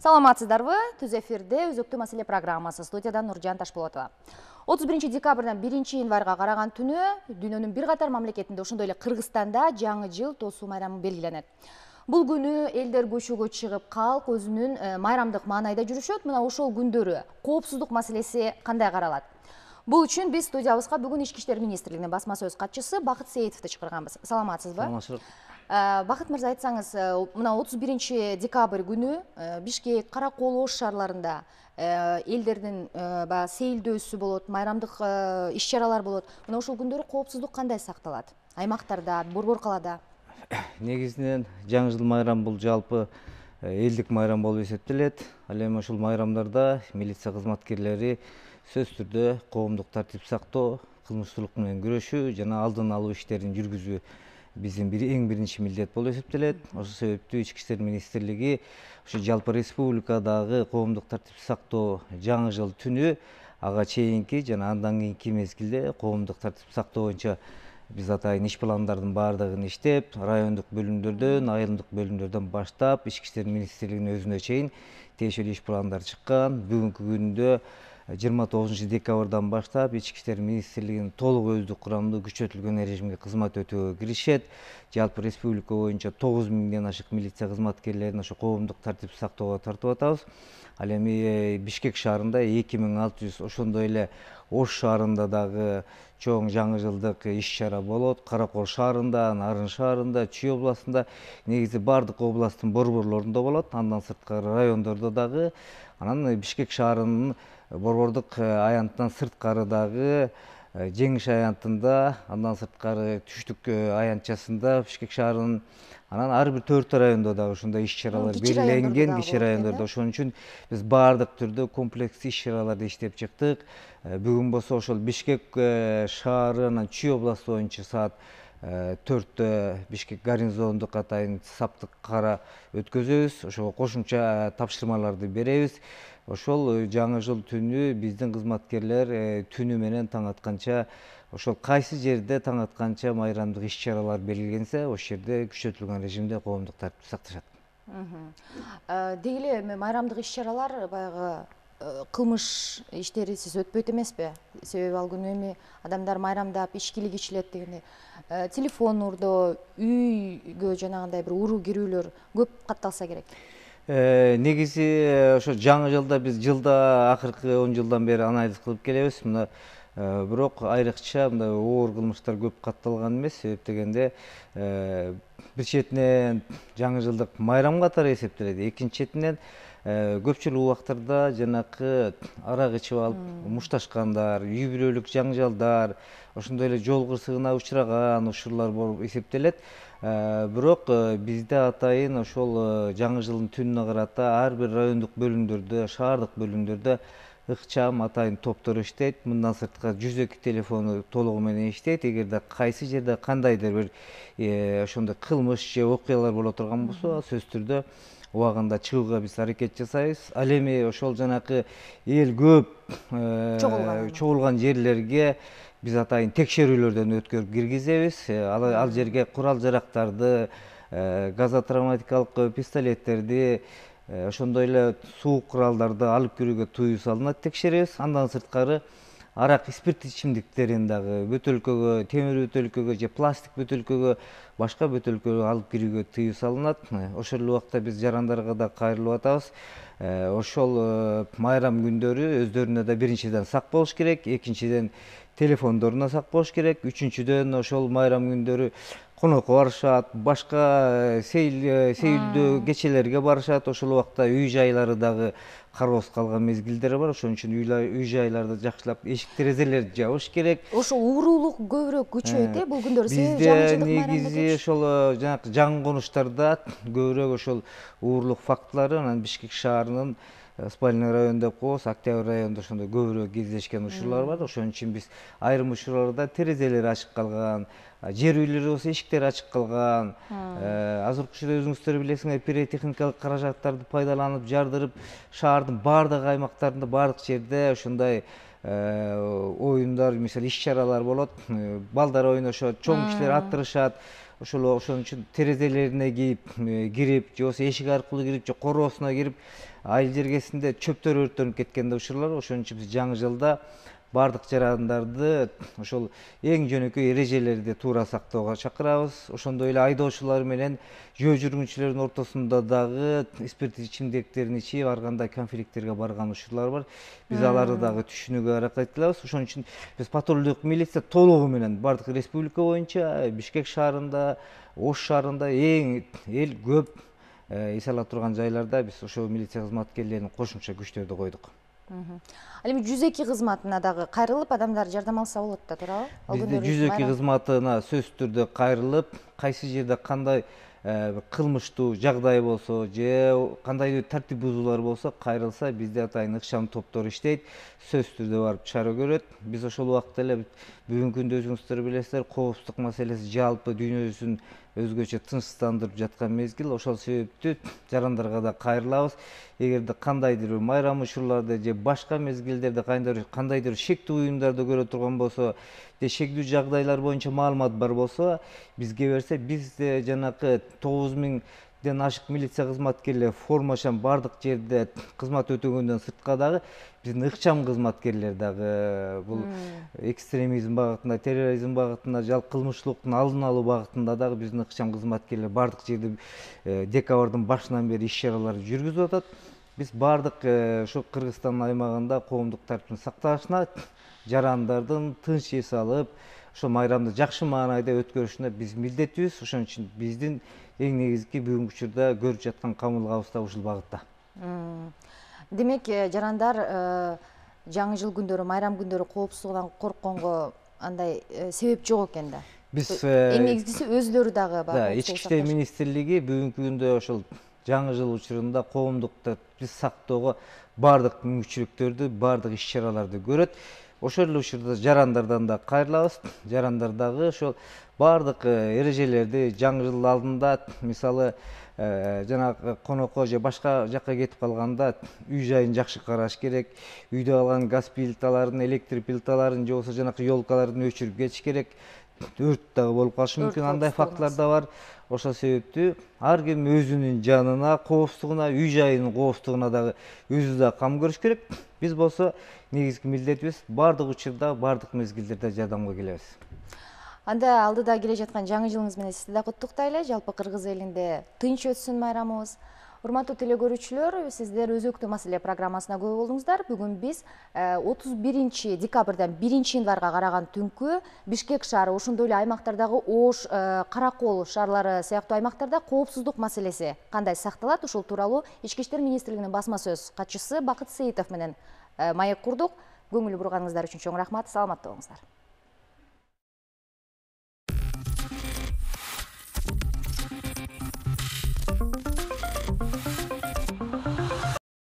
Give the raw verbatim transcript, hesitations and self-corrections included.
Саламатсыздарбы? Түз эфирде өзөктүү маселе программасы, студиядан Нуржан Ташполотова. отуз биринчи декабрдан биринчи январга караган түнү дүйнөнүн бир катар мамлекетинде, ошондой эле Кыргызстанда жаңы жыл тосуу майрамы белгиленет. Бул күнү элдер көчөгө чыгып, калк өзүнүн майрамдык маанайда жүрүшөт. Мына ошол күндөрү коопсуздук маселеси кандай каралат? Бул үчүн биз студиябызга бүгүн Ички иштер министрлигинин басма сөз катчысы Бакыт Сейитовду чакырганбыз. Саламатсызбы? Саламатсызбы. Бакыт мырза, айтсаңыз, мына отуз биринчи декабрь күнү Бишкек, Каракол, Ош шаарларында элдердин баягы сейилдөөсү болот, майрамдык иш-чаралар болот. Мына ошол күндөрү коопсуздук кандай сакталат? Аймактарда, Борбор калаада? Негизинен жаңы жыл майрамы бул жалпы элдик майрам болуп эсептелет. Ал эми ошол майрамдарда милиция кызматкерлери сөзсүз түрдө коомдук тартип сактоо, кылмыштуулук менен күрөшүү жана алдын алуу иштерин жүргүзүү биздин эң биринчи милдет болуп эсептелет. Ошол себептүү Ички иштер министрлиги ушу жалпы республикадагы коомдук тартип сактоо жаңы жыл түнү ага чейинки жана андан кийинки мезгилде коомдук тартип сактоо боюнча биз атайын иш пландардын баардыгын иштеп, райондук бөлүмдөрдөн, айылдык бөлүмдөрдөн баштап Ички иштер министрлигинин өзүнө чейин тиешелүү иш пландар чыккан. Бүгүнкү күндө жыйырма тогузунчу декабрдан баштап Ички иштер министрлигинин толук өздүк курамдуу күчөтүлгөн режимге кызмат өтөөгө киришет. Жалпы республика боюнча тогуз миңден ашык милиция кызматкерлерин ошо коомдук тартип сактоого тартып атабыз. Ал эми Бишкек шаарында эки миң алты жүз, ошондой эле Ош шаарында дагы чоң жаңы жылдык иш-чара болот. Каракол шаарында, Нарын шаарында, Чүй областында, негизи бардык областтын борборлорунда болот. Андан сырткары райондордо дагы. Анан Бишкек шаарынын борбордук аянтынан сырткары дагы Жеңиш аянтында, андан сырткары Түштүк аянтчасында Бишкек шаарынын, анан ар бир төрт райондо дагы ушундай иш-чаралар белгиленген, кичи райондордо. Ошон үчүн биз баардык түрдө комплекс иш-чараларды иштеп чыктык. Бүгүн болсо ошол Бишкек шаары, анан Чүй областы боюнча саат төрттө Бишкек гарнизондук атайын саптык кара өткөзөбүз. Ошого кошумча тапшырмаларды беребиз. Ошол жаңы жыл түнү биздин кызматкерлер түнү менен таң атканча, ошол кайсы жерде таң атканча майрамдык иш-чаралар белгиленсе, ошол жерде күчөтүлгөн режимде коомдук тартипти сакташат. Деги эле майрамдык иш-чаралар баягы кылмыш иштерисиз өтпөйт эмеспи? Себеби ал күнү эми адамдар майрамдап, ичкилик ичилет дегендей. Телефон урдоо, үйгө жанагындай бир уруу кирүүлөр көп катталса керек. Негизи ошо жаңы жылда биз жылда акыркы он жылдан бери анализ кылып келебиз. Мына бирок айрыкча мындай оор кылмыштар көп катталган эмес. Себеп дегенде бир четинен жаңы жылдык майрам катары эсептелет. Экинчи четинен көпчүлүк убактарда жанакы арак ичип алып мушташкандар, үй бүлөлүк жаңжалдар, ошондой эле жол кырсыгына учураган учурлар болуп эсептелет. Бирок бизде атайын ошол жаңы жылдын түнүнө карата ар бир райондук бөлүмдөрдө, шаардык бөлүмдөрдө ыкчам атайын топтор иштейт. Мындан сырткары жүз эки телефону толугу менен иштейт. Эгерде кайсы жерде кандайдыр бир ошондой кылмыш же окуялар боло турган болсо, сөзсүз түрдө убагында чыгууга биз аракет жасайбыз. Ал эми ошол жанакы эл көп чогулган жерлерге биз атайын текшерүүлөрдөн өткөрүп киргизебиз. Ал жерге курал жарактарды, газотравматикалык пистолеттерди, ошондой эле суук куралдарды алып кирүүгө тыюу салынат, текшеребиз. Андан сырткары арак, спирттик ичимдиктерин дагы бөтөлкөгө, темир бөтөлкөгө же пластик бөтөлкөгө, башка бөтөлкөгө алып кирүүгө тыюу салынат. Ошол эле убакта биз жарандарга да кайрылып атабыз. Ошол майрам күндөрү өздөрүнө да биринчиден сак болуш керек, экинчиден телефондоруна сак болуш керек, үчүнчүдөн ошол майрам күндөрү конокко барышат, башка сейилдөө кечелерге барышат. Ошол убакта үй жайлары дагы кароосуз калган мезгилдер бар. Ошон үчүн үй жайларды жакшылап эшик терезелерди жабыш керек. Ошо уурулук көбүрөөк күчөйт э бул күндөрү. Бизде негизи ошол жанакы жаңы конуштарда көбүрөөк ошол уурулук фактылары, анан Бишкек шаарынын спальный район деп коебуз, Октябрь районунда ошондой көбүрөөк кездешкен учурлар бар. Ошон үчүн биз айрым учурларда терезелери ачык калган, жер үйлөр болсо эшиктери ачык калган, азыркы учурда өзүңүздөр билесиңер, пиротехникалык каражаттарды пайдаланып, жардырып, шаардын баардык аймактарында, баардык жерде ошондой оюндар, мисалы иш-чаралар болот. Балдар ойношот, чоң кишилер аттырышат. ошол ошон үчүн терезелерине кирип кирип же болбосо эшик аркылуу кирип же короосуна кирип айыл жергесинде чөптөр өрттөнүп кеткен да учурлар. Ошон үчүн биз жаңы жылда бардык жарандарды ошол эң жөнөкөй эрежелерди туура сактоого чакырабыз. Ошондой эле айдоочулар менен жөө жүргүнчүлөрдүн ортосунда дагы спирттик ичимдиктерин ичип ар кандай конфликттерге барган учурлар бар. Биз аларды дагы түшүнүүгө аракет кылабыз. Ошон үчүн биз патрулдук милиция толугу менен бардык республика боюнча Бишкек шаарында, Ош шаарында эң эл көп эс ала турган жайларда биз ошол милиция кызматкерлеринин кошумча күчтөрдү койдук. Ал эми жүз эки кызматына дагы кайрылып адамдар жардам алса болот да, туурабы? Бизде жүз эки кызматына сөзсүз түрдө кайрылып, кайсы жерде кандай кылмыштуу жагдай болсо же кандайдыр тартип бузуулар болсо кайрылса, бизде атайын ыкчам топтор иштейт, сөзсүз түрдө барып чара көрөт. Биз ошол убакта эле бүгүнкү күндө өзүңүздөр билесиздер, коопсуздук маселеси жалпы дүйнө жүзүн өзгөчө тынчсыздандырып жаткан мезгил. Ошол себептүү жарандарга да кайрылабыз. Эгерде кандайдыр бир майрам учурларда же башка мезгилдерде кандайдыр шектүү уюмдарды көрө турган болсо же шектүү жагдайлар боюнча маалымат бар болсо, бизге берсе, бизде жанакы тогуз миңден ашык милиция кызматкерлери формашан бардык жерде кызмат өтөгөндөн сыртка дагы биздин ыкчам кызматкерлер дагы бул экстремизм багытында, терроризм багытында, жалпы кылмыштуулуктун алдын алуу багытында дагы биздин ыкчам кызматкерлер бардык жерде декабрдын башынан бери иш чаралар жүргүзүп атат. Биз бардык ушу Кыргызстан аймагында коомдук тартиптин сакталышына, жарандардын тынч эс алып, ошо майрамды жакшы маанайда өткөрүшүнө биз милдеттүүбүз. Ошон үчүн биздин эң негизги бүгүнкү учурда көрүп жаткан камылгабыз да ушул багытта. Демек, жарандар жаңы жыл күндөрү, майрам күндөрү коопсуздугунан коркконго андай себеп жок экен да. Биз эң негизгиси өзүлөрү дагы бар. Ички иштер министрлиги бүгүнкү күндө ошол жаңы жыл учурунда коомдук тартипти сактоого бардык мүмкүнчүлүктөрдү, бардык иш чараларды көрөт. Ошол эле учурда жарандардан да кайрылабыз. Жарандар дагы ошол бардык эрежелерди жаңы жыл алдында, мисалы, жанагы конокко же башка жакка кетип калганда үй жайын жакшы караш керек. Үйдө калган газ плиталарын, электр плиталарын же болбосо жанакы ёлкаларын өчүрүп кетиш керек. Өрт дагы болуп калышы мүмкүн, андай фактылар да бар. Ошол себептүү ар ким өзүнүн жанына, коопсуздугуна, үй жайынын коопсуздугуна дагы өзү да кам көрүш керек. Биз болсо негизги милдетибиз бардык учурда, бардык мезгилдерде жардамга келебиз. Анда алдыда келе жаткан жаңы жылыңыз менен сизди да куттуктайлы. Жалпы кыргыз элинде тынч өтсүн майрамыбыз. Урматтуу телекөрүүчүлөр, сиздер өзөктүү маселе программасына күбө болдуңуздар. Бүгүн биз отуз биринчи декабрдан биринчи январга караган түнкү Бишкек шаары, ошондой эле аймактардагы Ош, Каракол шаарлары сыяктуу аймактарда коопсуздук маселеси кандай сакталат, ушул тууралуу Ички иштер министрлигинин басма сөз катчысы Бакыт Сейитов менен маек курдук. Көңүл бурганыңыздар үчүн чоң рахмат. Саламатта болуңуздар.